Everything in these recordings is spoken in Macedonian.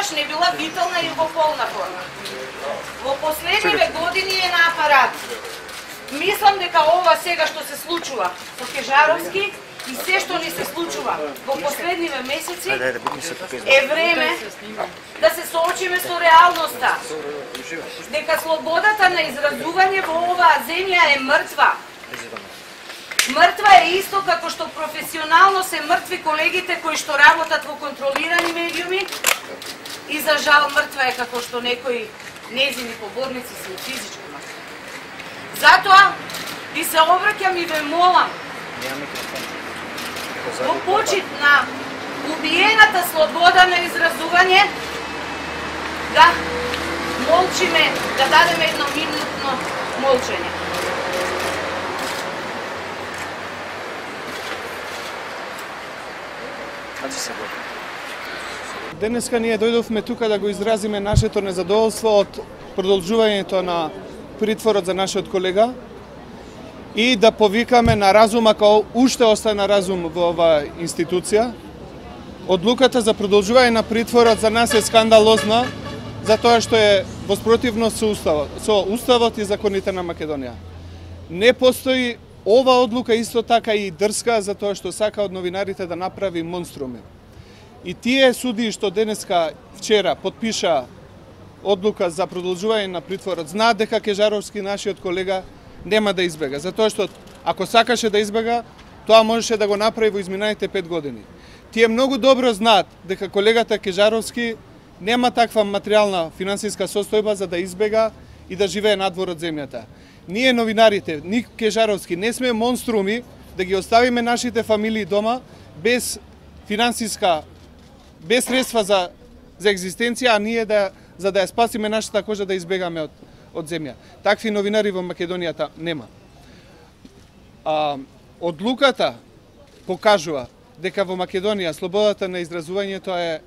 тогаш не била витална и во полна форма. Во последниве години е на апарат. Мислам дека ова сега што се случува со Кежаровски и се што ни се случува во последниве месеци е време да се соочиме со реалноста. Дека слободата на изразување во оваа земја е мртва. Мртва е исто како што професионално се мртви колегите кои што работат во контролирани медиуми и за жал мртва е како што некои незини поборници се физички мртви. Затоа ви се обраќам и ве молам во почит на убиената слобода на изразување да молчиме, да дадеме едно минутно молчење. Денеска ние дојдовме тука да го изразиме нашето незадоволство од продолжувањето на притворот за нашиот колега и да повикаме на разум, ако уште остана разум во оваа институција. Одлуката за продолжување на притворот за нас е скандалозна, затоа што е во спротивност со Уставот и законите на Македонија. Не постои ова одлука исто така и дрска, затоа што сака од новинарите да направи монструми. И тие судии што денеска, вчера, подпиша одлука за продолжување на притворот, знаат дека Кежаровски, нашиот колега, нема да избега. Затоа што, ако сакаше да избега, тоа можеше да го направи во изминалите 5 години. Тие многу добро знаат дека колегата Кежаровски нема таква материјална финансиска состојба за да избега и да живее надвор од земјата. Ние новинарите, ни Кежаровски, не сме монструми да ги оставиме нашите фамилии дома без финансиска, без средства за екзистенција, а ние за да ја спасиме нашата кожа да избегаме од земја. Такви новинари во Македонијата нема. Одлуката покажува дека во Македонија слободата на изразувањето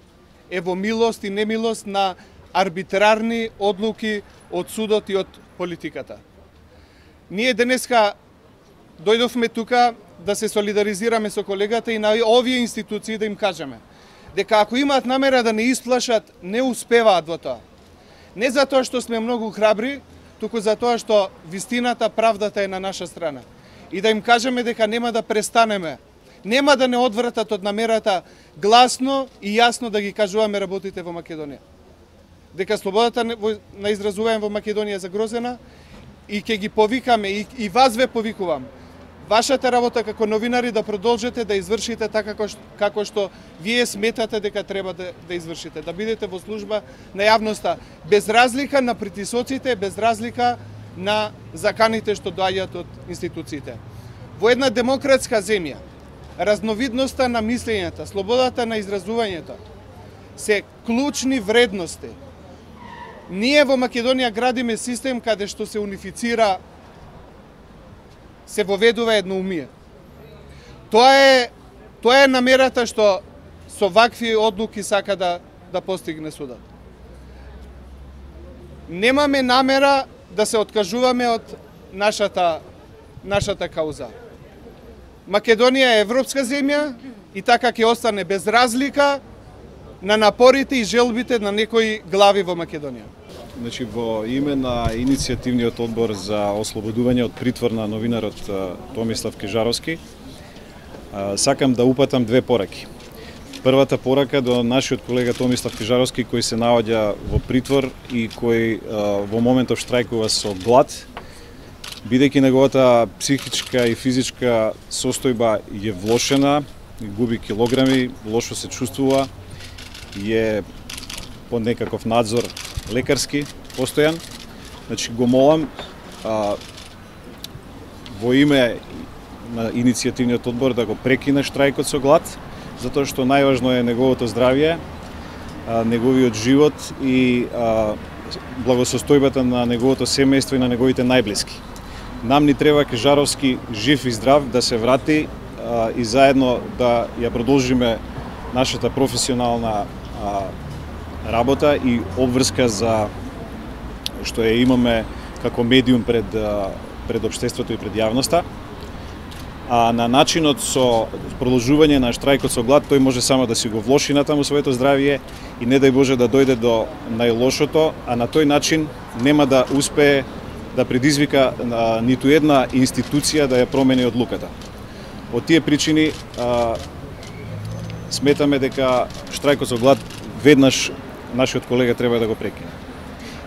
е во милост и немилост на арбитрарни одлуки од судот и од политиката. Ние денеска дојдовме тука да се солидаризираме со колегата и на овие институции да им кажеме дека ако имаат намера да не исплашат, не успеваат во тоа. Не затоа што сме многу храбри, туку затоа што вистината, правдата е на наша страна. И да им кажеме дека нема да престанеме, нема да не одвратат од намерата гласно и јасно да ги кажуваме работите во Македонија. Дека слободата на изразување во Македонија е загрозена и ќе ги повикаме, и вас ве повикувам. Вашата работа како новинари да продолжите да извршите така како што вие сметате дека треба да извршите, да бидете во служба на јавноста, без разлика на притисоците, без разлика на заканите што доаѓаат од институциите. Во една демократска земја, разновидноста на мислењето, слободата на изразувањето се клучни вредности. Ние во Македонија градиме систем каде што се унифицира, се воведува едноумие. Тоа е намерата што со вакви одлуки сака да постигне судот. Немаме намера да се откажуваме од нашата кауза. Македонија е европска земја и така ќе остане без разлика на напорите и желбите на некои глави во Македонија. Значи, во име на иницијативниот одбор за ослободување од притвор на новинарот Томислав Кежаровски, сакам да упатам две пораки. Првата порака до нашиот колега Томислав Кежаровски, кој се наоѓа во притвор и кој во моментов штрајкува со глад, бидејќи неговата психичка и физичка состојба е влошена, губи килограми, лошо се чувствува, е под некаков надзор лекарски постојан. Значи го молам во име на иницијативниот одбор да го прекине штрајкот со глад, затоа што најважно е неговото здравје, неговиот живот и благосостојбата на неговото семејство и на неговите најблиски. Нам ни треба Кежаровски жив и здрав да се врати и заедно да ја продолжиме нашата професионална работа и обврска за што ја имаме како медиум пред општеството и пред јавноста. а на начинот со продолжување на штрајкот со глад, тој може само да си го влоши натаму своето здравје и не дај Боже да дојде до најлошото, а на тој начин нема да успее да предизвика ниту една институција да ја промени одлуката. Од тие причини сметаме дека штрајкот со глад веднаш нашиот колега треба да го прекине.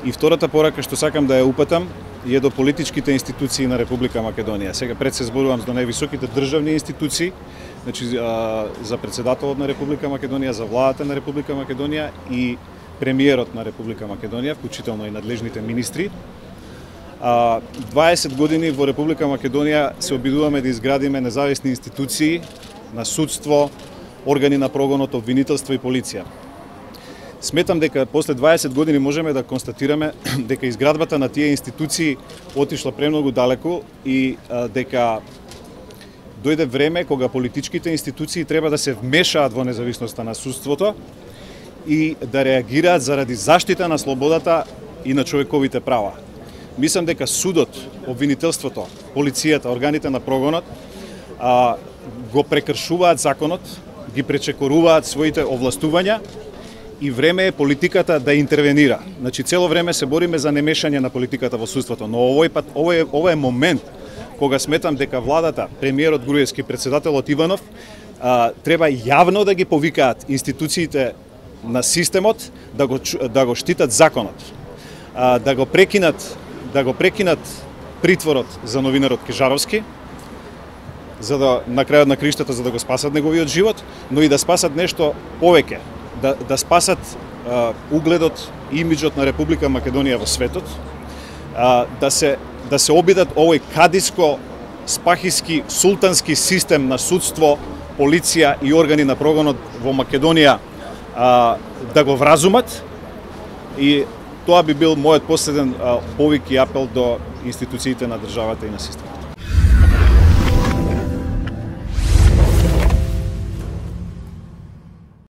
И втората порака што сакам да ја упатам е до политичките институции на Република Македонија. Сега пред се зборувам за највисоките државни институции, значи за председателот на Република Македонија, за владата на Република Македонија и премиерот на Република Македонија, вклучително и надлежните министри. 20 години во Република Македонија се обидуваме да изградиме независни институции на судство, органи на прогонот, обвинителство и полиција. Сметам дека после 20 години можеме да констатираме дека изградбата на тие институции отишла премногу далеку и дека дојде време кога политичките институции треба да се вмешаат во независноста на судството и да реагираат заради заштита на слободата и на човековите права. Мислам дека судот, обвинителството, полицијата, органите на прогонот го прекршуваат законот, ги пречекоруваат своите овластувања и време е политиката да интервенира. Значи цело време се бориме за немешање на политиката во судството, но овој пат ова е момент кога сметам дека владата, премиерот Груевски, председателот Иванов треба јавно да ги повикаат институциите на системот да го штитат законот, да го прекинат притворот за новинарот Кежаровски, за да на крајот на криштата за да го спасат неговиот живот, но и да спасат нешто повеќе, да спасат угледот и имиджот на Република Македонија во светот, да се обидат овој кадиско, спахиски, султански систем на судство, полиција и органи на прогонот во Македонија да го вразумат, и тоа би бил мојот последен повик и апел до институциите на државата и на системот.